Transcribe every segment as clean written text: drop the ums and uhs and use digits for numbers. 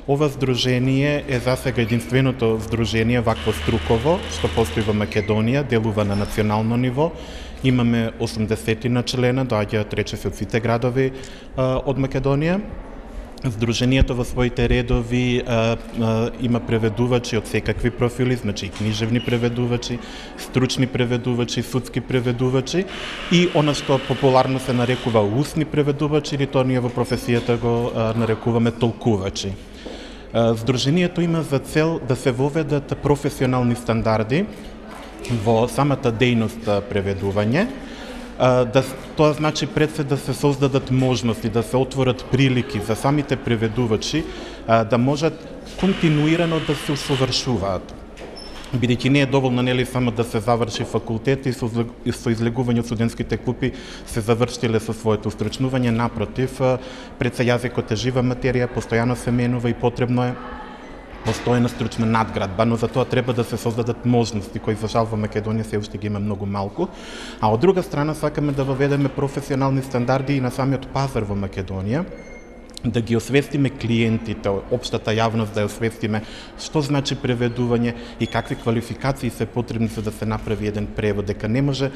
Ова здружение е засега единственото здружение вакво струково што постои во Македонија, делува на национално ниво. Имаме 80 на члена, доаѓаат речиси од сите градови од Македонија. Здруженијето во своите редови има преведувачи од секакви профили, значи и книжевни преведувачи, стручни преведувачи, судски преведувачи и она што популарно се нарекува устни преведувачи, или тоа ние во професијата го нарекуваме толкувачи. Здруженијето има за цел да се воведат професионални стандарди во самата дејност преведување. Тоа значи пред се да се создадат можности, да се отворат прилики за самите преведувачи да можат континуирано да се усовршуваат. Бидејќи не е доволно нели само да се заврши факултет и со излегување од студентските клупи се завршиле со своето устручнување, напротив, пред се јазикот е жива материја, постојано се менува и потребно е постојана стручна надградба, но за тоа треба да се создадат можности кои за жал во Македонија се уште ги има многу малку. А од друга страна сакаме да воведеме професионални стандарди и на самиот пазар во Македонија, да ги освестиме клиентите, општата јавност да ја освестиме што значи преведување и какви квалификации се потребни за да се направи еден превод, дека не може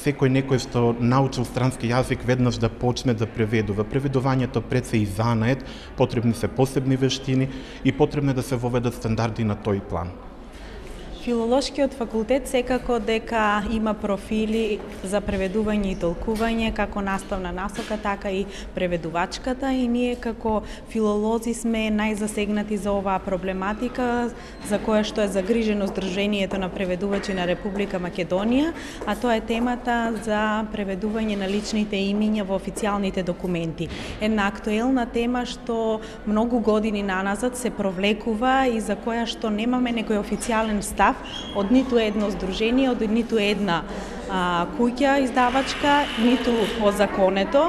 некој што научил странски јазик веднаш да почне да преведува. Преведувањето пред се и занает, потребни се посебни вештини и потребно е да се воведат стандарди на тој план. Филолошкиот факултет секако дека има профили за преведување и толкување, како наставна насока, така и преведувачката, и ние како филолози сме најзасегнати за оваа проблематика, за која што е загрижено Здруженијето на преведувачи на Република Македонија, а тоа е темата за преведување на личните имиња во официјалните документи. Една актуелна тема што многу години наназад се провлекува и за која што немаме некој официјален став од ниту едно здружение, од ниту една куќа издавачка, ниту озаконето.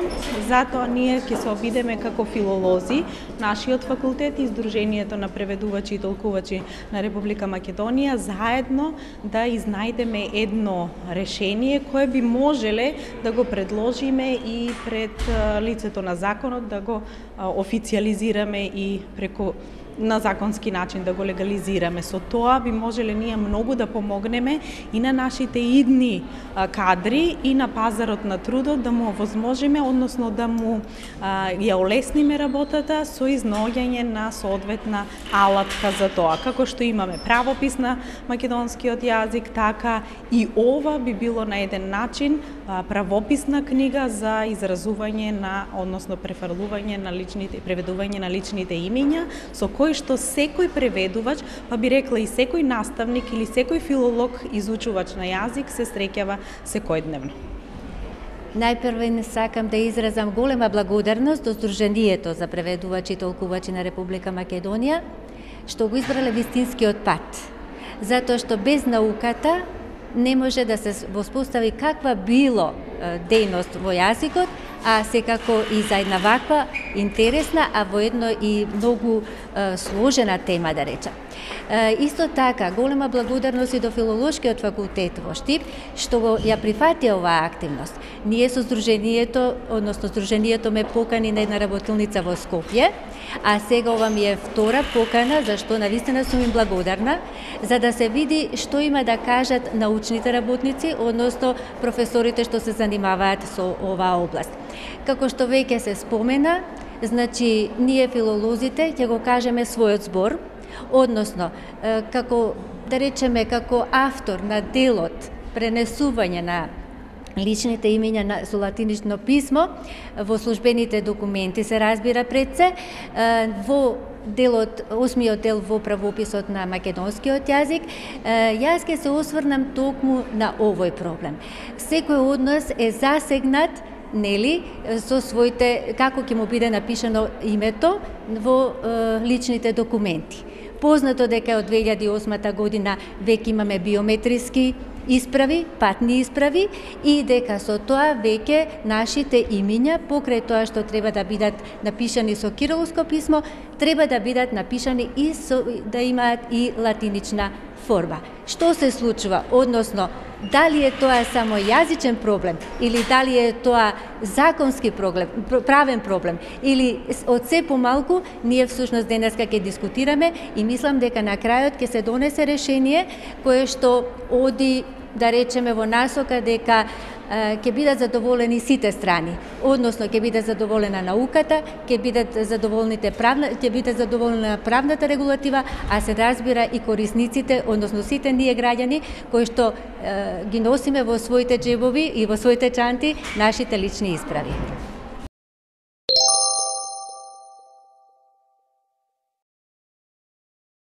Затоа ние ќе се обидеме како филолози, нашиот факултет и Здруженијето на преведувачи и толкувачи на Република Македонија заедно да изнајдеме едно решение кое би можеле да го предложиме и пред лицето на законот, да го официјализираме и преку на законски начин да го легализираме. Со тоа би можеле ние многу да помогнеме и на нашите идни кадри и на пазарот на трудот да му овозможиме, односно да му ја олесниме работата со изнаоѓање на соодветна алатка за тоа. Како што имаме правопис на македонскиот јазик, така и ова би било на еден начин правописна книга за изразување на, односно префрлување на личните, преведување на личните имиња, со кој што секој преведувач, па би рекла и секој наставник или секој филолог изучувач на јазик се среќава секојдневно. Најпрво сакам да изразам голема благодарност до Здруженијето за преведувачи и толкувачи на Република Македонија, што го избрале вистинскиот пат. Затоа што без науката не може да се воспостави каква било дејност во јазикот, а секако и за една ваква интересна, а воедно и многу сложена тема, да речам. Исто така, голема благодарност и до Филолошкиот факултет во Штип, што ја прифати оваа активност. Ние со Здруженијето, односно Здруженијето ме покани на една работилница во Скопје, а сега ова ми е втора покана, зашто навистина сум им благодарна, за да се види што има да кажат научните работници, односно професорите што се занимаваат со оваа област. Како што веќе се спомена, значи ние филолозите ќе го кажеме својот збор, односно како да речеме како автор на делот пренесување на личните имиња со латинично писмо во службените документи се разбира пред се, во делот, 8-миот дел во правописот на македонскиот јазик, јас ќе се осврнам токму на овој проблем. Секој од нас е засегнат, нели, со своите, како ќе му биде напишано името во личните документи. Познато дека од 2008 година веќе имаме биометриски исправи, патни исправи, и дека со тоа веќе нашите имиња, покрај тоа што треба да бидат напишани со кирилско писмо, треба да бидат напишани и да имаат и латинична форма. Што се случува? Односно, дали е тоа само јазичен проблем или дали е тоа законски проблем, правен проблем или од се помалку, ние всушност денеска ќе дискутираме и мислам дека на крајот ќе се донесе решение кое што оди, да речеме, во насока дека ќе бидат задоволени сите страни, односно ќе биде задоволена науката, ќе биде задоволена правната регулатива, а се разбира и корисниците, односно сите ние граѓани кои што ги носиме во своите џебови и во своите чанти нашите лични исправи.